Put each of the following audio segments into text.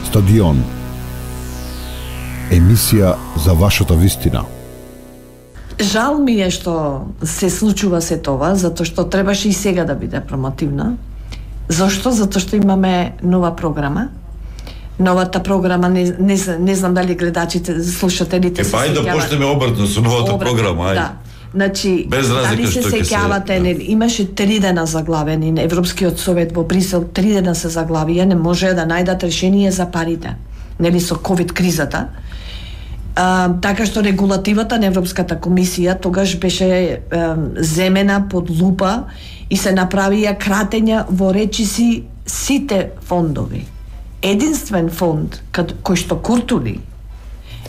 Стадион. Емисија за вашата вистина. Жал ми е што се случува се това, затоа што требаше и сега да биде промотивна. Зошто? Затоа што имаме нова програма. Новата програма, не знам дали гледачите, слушателите се ајде да почнеме обратно со новата програма, ајде. Да. Значи, без дали се сеќавате, имаше 3 дена заглавени, Европскиот совет во Брисел 3 дена се заглавија, не може да најдат решение за парите, нели со ковид кризата. Така што регулативата на Европската комисија тогаш беше земена под лупа и се направија кратења во речиси сите фондови. Единствен фонд кој што култури,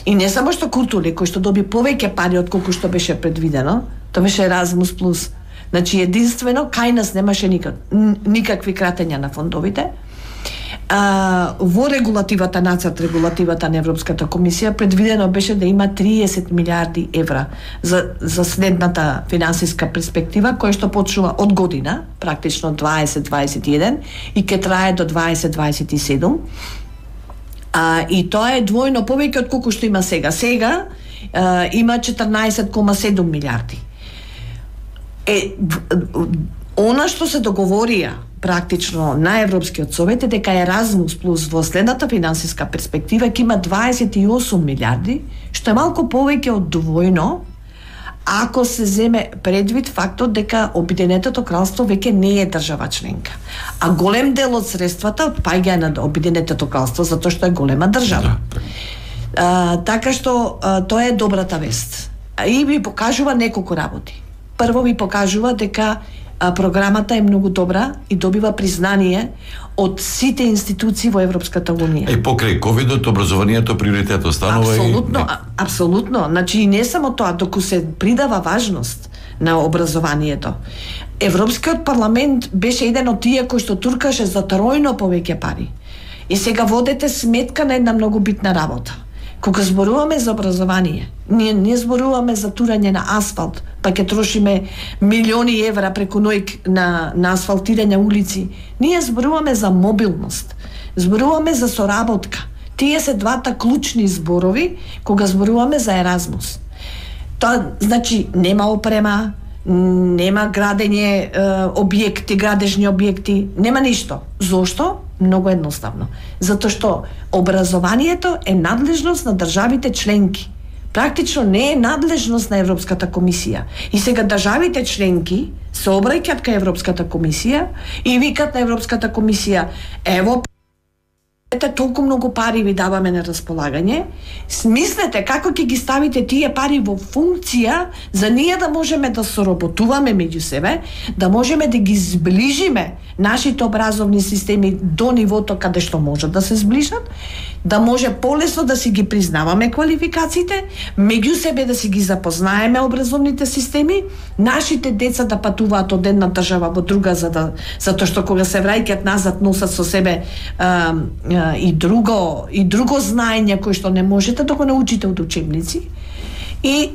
и не само што култури, кој што доби повеќе пари од колку што беше предвидено, тоа беше Erasmus Plus. Значи единствено кај нас немаше никакви кратења на фондовите. Во регулативата, нацрт регулативата на Европската комисија предвидено беше да има 30 милиарди евра за следната финансиска перспектива, која што почнува од година, практично 2021 и ќе трае до 2027. И тоа е двојно повеќе од колку што има сега. Сега има 14,7 милиарди. Она што се договорија практично на Европскиот совет е дека Erasmus Plus во следната финансиска перспектива ќе има 28 милиарди, што е малку повеќе од двојно, ако се земе предвид фактот дека Обединетото кралство веќе не е држава членка. А голем дел од средствата отпаѓа на Обединетото кралство затоа што е голема држава. Така што тоа е добрата вест. И ви покажува неколку работи. Прво ви покажува дека програмата е многу добра и добива признание од сите институции во Европската унија. Покрај ковидот, образованието приоритет останува. Апсолутно, апсолутно. Значи и не само тоа, доку се придава важност на образованието. Европскиот парламент беше еден од тие кој што туркаше за тројно повеќе пари. И сега водете сметка на една многу битна работа. Кога зборуваме за образование, ние не зборуваме за турање на асфалт, па ќе трошиме милиони евра преку ноќ на асфалтирање улици. Ние зборуваме за мобилност, зборуваме за соработка. Тие се двата клучни зборови кога зборуваме за Еразмус. Тоа значи нема опрема, нема градење објекти, градежни објекти, нема ништо. Зошто? Многу едноставно. Затоа што образованието е надлежност на државите членки. Практично не е надлежност на Европската комисија. И сега државите членки се обраќаат кај Европската комисија и викат на Европската комисија: ево, толку многу пари ви даваме на располагање, смислете како ќе ги ставите тие пари во функција за ние да можеме да соработуваме меѓу себе, да можеме да ги зближиме нашите образовни системи до нивото каде што можат да се зближат, да може полесно да си ги признаваме квалификациите, меѓу себе да си ги запознаеме образовните системи, нашите деца да патуваат од една држава во друга затоа што кога се враќаат назад носат со себе и друго знаење кој што не можете да го научите од учебници, и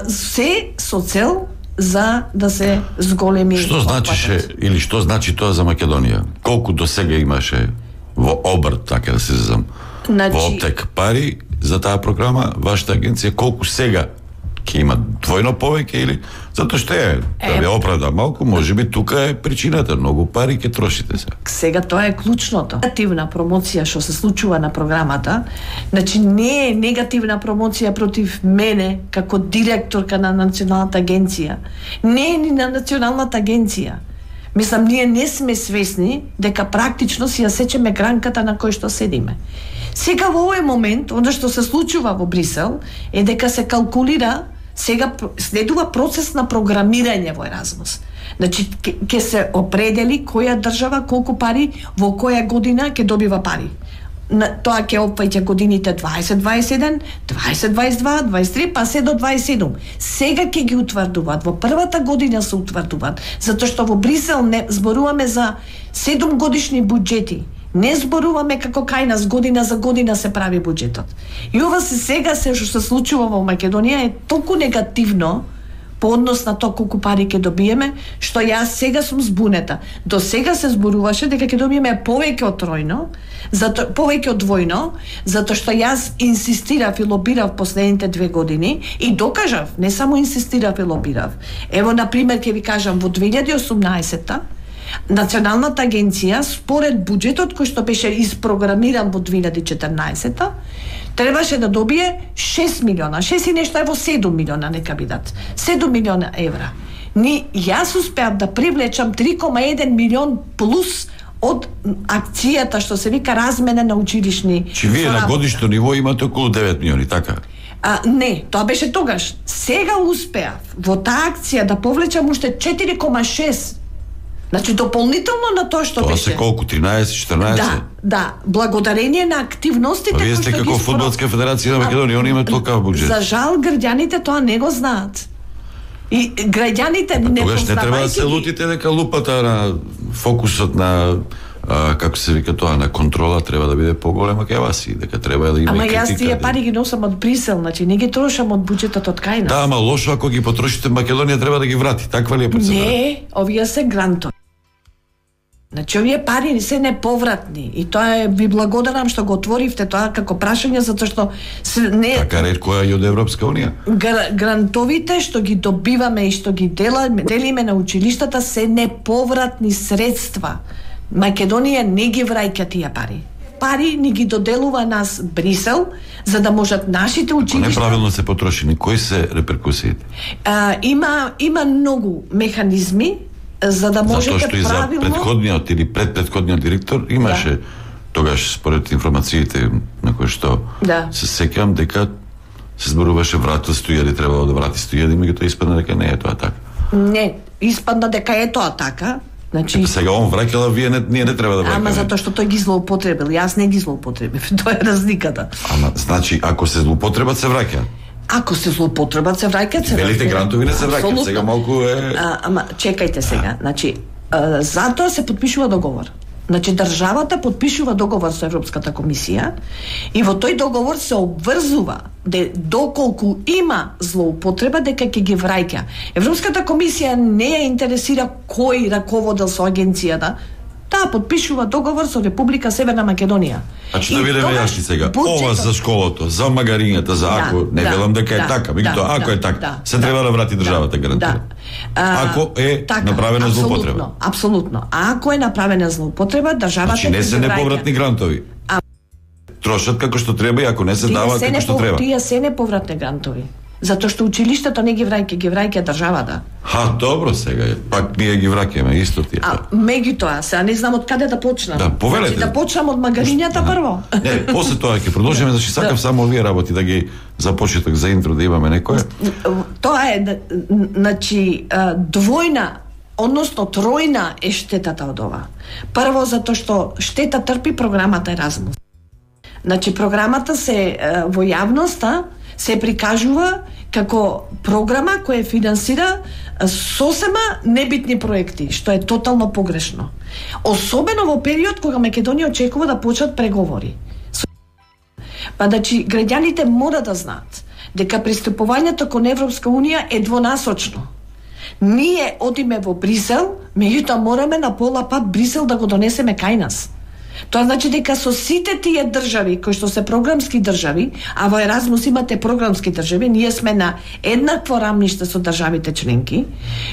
се со цел за да се зголеми. Што значише или што значи тоа за Македонија? Колку до сега имаше во обрт, така да се зазам, во оптек пари за таа програма, вашата агенција колку сега ќе има двојно повеќе или затоа што да ве оправда малку, можеби тука е причината, многу пари ќе трошите се. Сега тоа е клучното. Негативна промоција што се случува на програмата, значи не е негативна промоција против мене како директорка на Националната агенција. Не е ни на Националната агенција. Мислам, ние не сме свесни дека практично си ја сечеме гранката на кој што седиме. Сега во овој момент, оно што се случува во Брисел, е дека се калкулира, сега следува процес на програмирање во Еразмус. Значи, ќе се определи која држава колку пари во која година ќе добива пари. Тоа ќе опфаќа годините 2021, 2022, 23, па се до 27. Сега ќе ги утврдуваат, во првата година се утврдуваат, затоа што во Брисел не зборуваме за 7 годишни буџети. Не зборуваме како кај нас година за година се прави буџетот. И ова сега што се случува во Македонија е толку негативно по однос на тоа колку пари ќе добиеме, што јас сега сум збунета. До сега се зборуваше дека ќе добиеме повеќе од тројно, повеќе од двојно, затоа што јас инсистирав и лобирав последните 2 години и докажав, не само инсистирав и лобирав. Ево, например, ќе ви кажам, во 2018-та Националната агенција, според буџетот кој што беше испрограмиран во 2014-та, требаше да добие 6 милиона, 6 и нешто, ево 7 милиона нека бидат, 7 милиона евра. Јас успеав да привлечам 3,1 милион плюс од акцијата што се вика размена на училишни. Чи вие на годишно ниво имате околу 9 милиони, така? Не, тоа беше тогаш. Сега успеав во таа акција да повлечам уште 4,6. Значи, дополнително на тоа што тоа беше. Тоа се колку, 13, 14? Да, благодарение на активностите кои што ги... Вие сте како Фудбалска федерација на Македонија, они имаат толкав буџет. За жал, граѓаните тоа не го знаат. И граѓаните не тогаш не треба да се лутите дека лупата на фокусот на како се вика тоа, на контрола треба да биде поголема кај вас и дека треба да има критика. Ама јас тие пари ги носам од Брисел, значи не ги трошам од буџетот од кај нас. Да, ама лошо ако ги потрошите Македонија треба да ги врати, таква ли е процедура? Не, овие се грантови. Значи, овие пари се неповратни и тоа е, ви благодарам што го отворивте тоа како прашање, затоа што не... Така ретко е и од Европска Унија. Грантовите што ги добиваме и што ги делиме на училиштата се неповратни средства. Македонија не ги враќа тие пари. Пари ни ги доделува нас Брисел, за да можат нашите училишта... Ако неправилно се потрошени, кои се реперкусиите? Има многу механизми за да можете правилно... Затоа што и за претходниот или предпредходниот директор имаше тогаш, според информациите на кои што се сеќавам, дека се зборуваше вратил 100.000, требало да врати 100.000, меѓутоа испадна дека не е тоа така. Не, испадна дека е тоа така. Значи, сега он враќала, ние не треба да враќаме. Ама затоа што тој ги злоупотребил, јас не ги злоупотребив, тоа е разликата. Ама, значи, ако се злоупотребат, се враќа. Ако се злоупотребат, се враќаат, се велите грантови не се враќаат, сега малку е... Ама, чекајте сега, значи, затоа се подпишува договор. Значи, државата подпишува договор со Европската комисија и во тој договор се обврзува доколку има злоупотреба дека ќе ги враќа. Европската комисија не ја интересира кој раководел со агенцијата, таа подпишува договор со Република Северна Македонија. Значи да видиме јашни сега, ова за школото, за магарињата, за ако, не велам дека е така, меѓутоа ако е така, се треба да врати државата, гарантира. Ако е направена злоупотреба. Апсолутно. А ако е направена злоупотреба, државата значи не се неповратни грантови. Трошат како што треба и ако не се дава како што треба. Тие се неповратни грантови. Затоа што училиштето не ги враќа државата. Добро сега, пак ние ги враќаме исто тие. Меѓутоа, сега не знам од каде да почнам. Да, повелете. Значи, да почнам од магарињата прво. Не, после тоа ќе продолжиме, зашто сакав само овие работи да ги за почеток, за интро да имаме некое. Тоа е, значи, двојна, односно тројна е штетата од ова. Прво затоа што штета трпи програмата Еразмус. Значи, програмата се во јавноста се прикажува како програма која финансира сосема небитни проекти, што е тотално погрешно. Особено во период кога Македонија очекува да почнат преговори. Значи, граѓаните мора да знаат дека пристапувањето кон Европска Унија е двонасочно. Ние одиме во Брисел, меѓутоа мораме на пола пат Брисел да го донесеме кај нас. Тоа значи дека со сите тие држави кои што се програмски држави, а во Еразмус имате програмски држави, ние сме на еднакво рамниште со државите членки.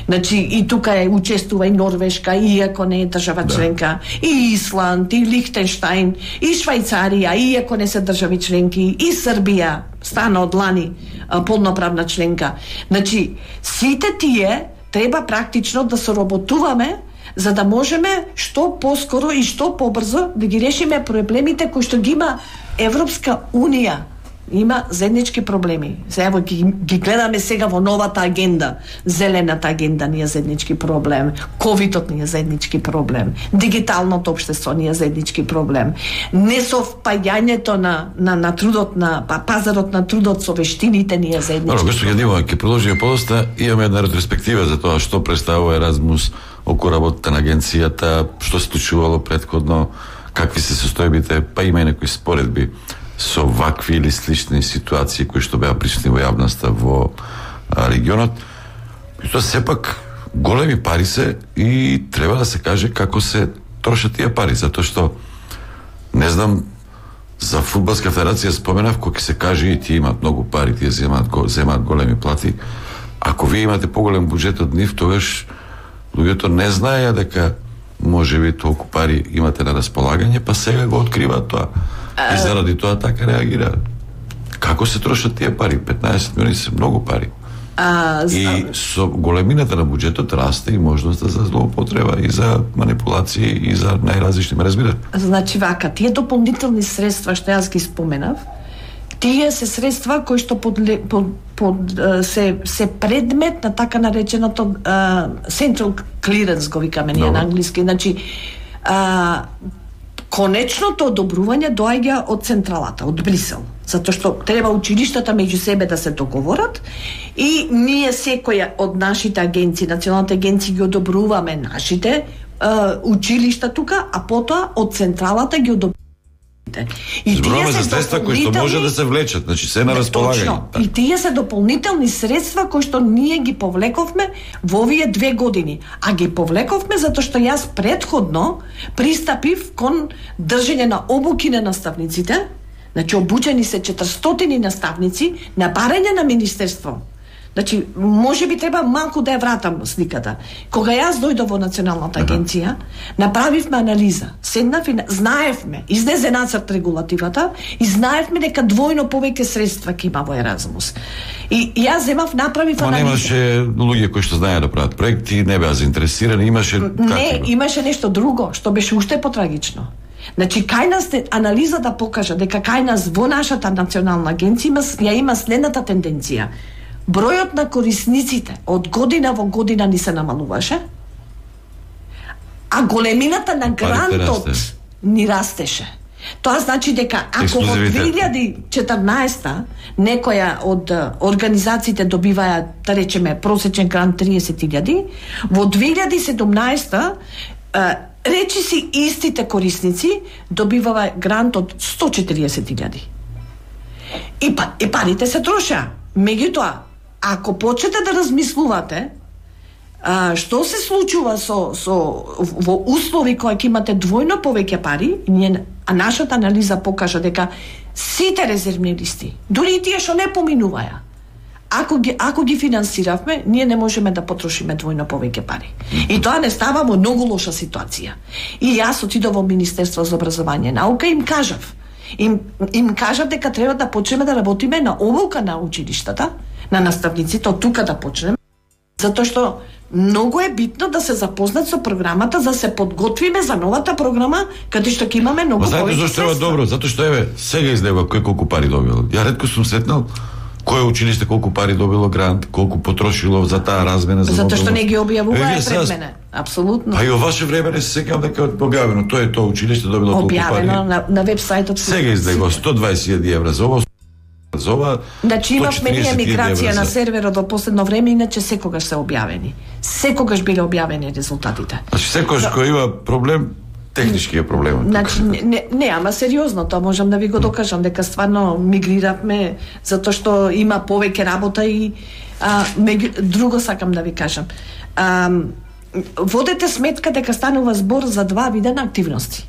Значи и тука учествува и Норвешка, иако не е држава членка, и Исланд, и Лихтенштаин, и Швајцарија, иако не се држави членки, и Србија стана од лани полноправна членка. Значи сите тие треба практично да соработуваме за да можеме што поскоро и што побрзо да ги решиме проблемите кои што ги има Европска Унија. Има заеднички проблеми. Сега ги гледаме сега во новата агенда. Зелената агенда ни е заеднички проблем. Ковидот ни е заеднички проблем. Дигиталното општество ни е заеднички проблем. Несовпаѓањето на трудот на пазарот на трудот со вештините ни е заеднички проблем. Гошто Јадимова, ќе продолжиме подоста. Имаме една ретроспектива за тоа што представува Еразмус околу работата на агенцијата, што се случувало претходно, какви се состојбите, па има и некои споредби со вакви или слични ситуации кои што беа присутни во јавноста во регионот. Тоа сепак големи пари се и треба да се каже како се трошат тие пари, затоа што не знам, за фудбалска федерација споменав, кога се каже и тие имаат многу пари, тие земаат големи плати. Ако вие имате поголем буџет од нив, тогаш луѓето не знаеја дека можеби толку пари имате на располагање, па сега го откриваат тоа. И заради тоа така реагираат. Како се трошат тие пари? 15 милиони се многу пари. И со големината на буџетот расте и можноста за злоупотреба и за манипулации и за најразлични, ме разбирате? Значи вака, тие дополнителни средства што јас ги споменав, тие се средства кои што се предмет на така нареченото Central Clearance, го викаме ние на англиски. Значи, конечното одобрување доаѓа од централата, од Брисел. Затоа што треба училиштата меѓу себе да се договорат и ние секоја од нашите агенции, националните агенции ги одобруваме нашите училишта тука, а потоа од централата ги одобруваме. Зборуваме за средства кои што може да се влечат, значи се на располагање. И тие се дополнителни средства кои што ние ги повлековме во овие 2 години. А ги повлековме затоа што јас претходно пристапив кон држење на обуки на наставниците. Значи обучени се 400 наставници на барање на министерство. Значи, може би треба малку да ја вратам сликата. Кога јас дојдов во Националната агенција, направивме анализа. Седнав и знаевме, излезе нацрт регулативата и знаевме дека двојно повеќе средства ќе има во Еразмус. И јас направив анализа. Немаше луѓе кои што знаеа да прават проекти, не беа заинтересирани, имаше Не, имаше нешто друго, што беше уште потрагично. Значи, кај нас анализата покажа дека кај нас во нашата национална агенција има следната тенденција. Бројот на корисниците од година во година ни се намалуваше, а големината на грантот ни растеше. Тоа значи дека ако во 2014 некоја од организациите добиваја, да речеме, просечен грант 30.000, во 2017 речиси истите корисници добиваа грант од 140.000. И парите се трошеа. Меѓутоа, ако почнете да размислувате што се случува во услови кои ќе имате двојно повеќе пари, а нашата анализа покажа дека сите резервни листи, дури и тие што не поминуваја, ако ги финансиравме, ние не можеме да потрошиме двојно повеќе пари. И тоа не става во многу лоша ситуација. И јас отидов во Министерство за образование и наука и им кажав дека треба да почнеме да работиме на обука на училиштата, на наставниците, од тука да почнеме, затоа што многу е битно да се запознат со програмата, за да се подготвиме за новата програма, каде што ќе имаме многу повеќе средства. Знаете зашто е добро? Затоа што сега излева кој колку пари добил. Ја ретко сум сретнал кое училиште колку пари добило грант, колку потрошило за таа размена за затоа што не ги објавуваа пред мене. Апсолутно. А и во ваше време не се сеќавам дека објавено, тоа училиште добило колку пари. Објавено на вебсајтот. Сега излегло 120.000 евра за ова. Значи имавме ние миграција на серверот во последно време, иначе секогаш се објавени. Секогаш биле објавени резултатите. Значи секогаш кој има проблем, технички е проблемот. Значи не, ама сериозно, тоа можам да ви го докажам дека стварно мигриравме затоа што има повеќе работа и друго сакам да ви кажам. Водете сметка дека станува збор за 2 вида на активности.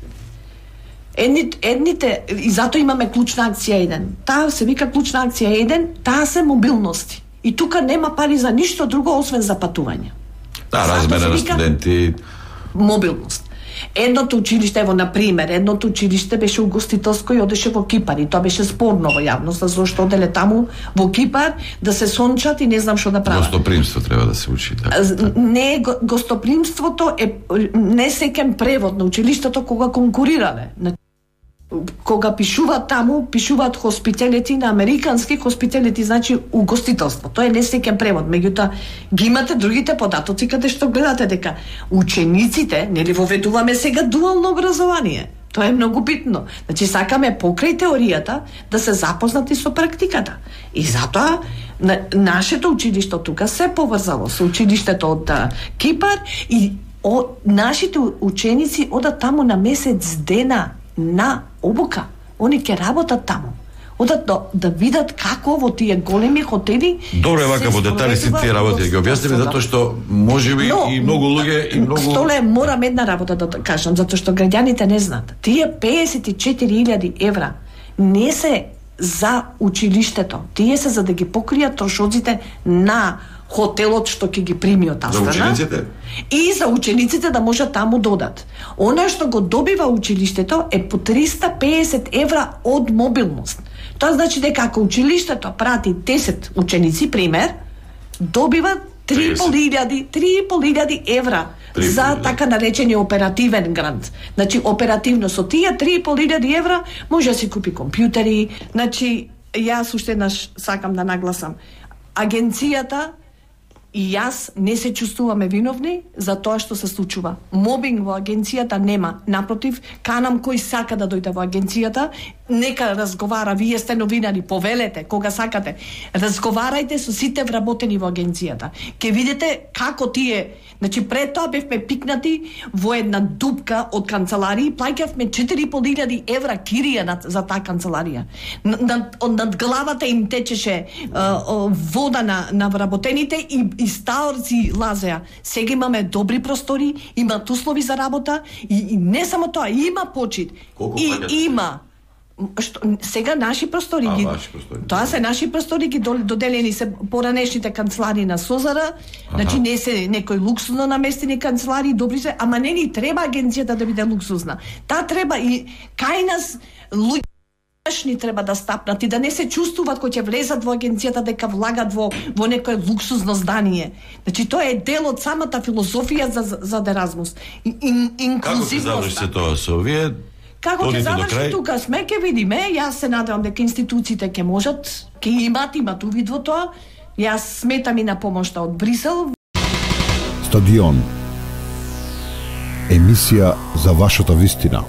Едните, и затоа имаме клучна акција 1. Таа се вика клучна акција 1, таа се мобилности. И тука нема пари за ништо друго освен за патување. Размена на студенти. Мобилност. Едното училиште, едното училиште беше угостителско и одеше во Кипар и тоа беше спорно во јавноста, зашто оделе таму во Кипар да се сончат и не знам што да прават. Гостопримство треба да се учи. Не, гостопримството е несеќен превод на училиштето кога конкурирале. Кога пишуваат таму, пишуваат hospitality на американски, hospitality значи угостителство. Тоа е несеќен превод. Меѓутоа, ги имате другите податоци каде што гледате дека учениците, нели воведуваме сега дуално образование. Тоа е многу битно. Значи, сакаме покрај теоријата да се запознати со практиката. И затоа нашето училиште тука се поврзало со училиштето од Кипар и нашите ученици одат таму на месец дена на обука. Они ќе работат таму. одат да видат како во тие големи хотели. Добро е вака во детали си тие работи ги објасниме, затоа што можеби и многу луѓе и многу Столе, морам една работа да кажам, затоа што граѓаните не знаат. Тие 54.000 евра не се за училиштето. Тие се за да ги покријат трошоците на хотелот што ќе ги прими од таа страна. За учениците? И за учениците да можат таму додат. Она што го добива училиштето е по 350 евра од мобилност. Тоа значи дека ако училиштето прати 10 ученици, пример, добива 3.500 евра за така наречени оперативен грант. Значи, оперативно со тие 3.500 евра може да си купи компјутери. Значи, јас уште еднаш сакам да нагласам. Агенцијата и јас не се чувствуваме виновни за тоа што се случува. Мобинг во агенцијата нема. Напротив, канам кој сака да дојде во агенцијата, нека разговара, вие сте новинари, повелете, кога сакате. Разговарајте со сите вработени во агенцијата. Ке видите како тие, значи пред тоа бевме пикнати во една дупка од канцеларии, плаќавме 4.500 евра кирија за таа канцеларија. Над главата им течеше вода на вработените и стаорци лазеа. Сега имаме добри простори, имаат услови за работа и не само тоа, има почит. Има сега наши простори ги. Тоа се наши простори ги доделени се поранешните канцелари на Созара. Значи не се некои луксузно наместени канцелари, добри се, ама не ни треба агенцијата да биде луксузна. Таа треба и кај нас луѓе ни треба да стапнат и да не се чувствуваат кога ќе влезат во агенцијата дека влагат во некое луксузно здание. Значи тоа е дел од самата филозофија за Еразмус. Инклузивност. Како ќе заврши тоа со овие? Како ќе заврши тука сме, ќе видиме. Јас се надевам дека институциите ќе можат, ќе имат увид во тоа. Јас сметам и на помошта од Брисел. Стадион. Емисија за вашата вистина.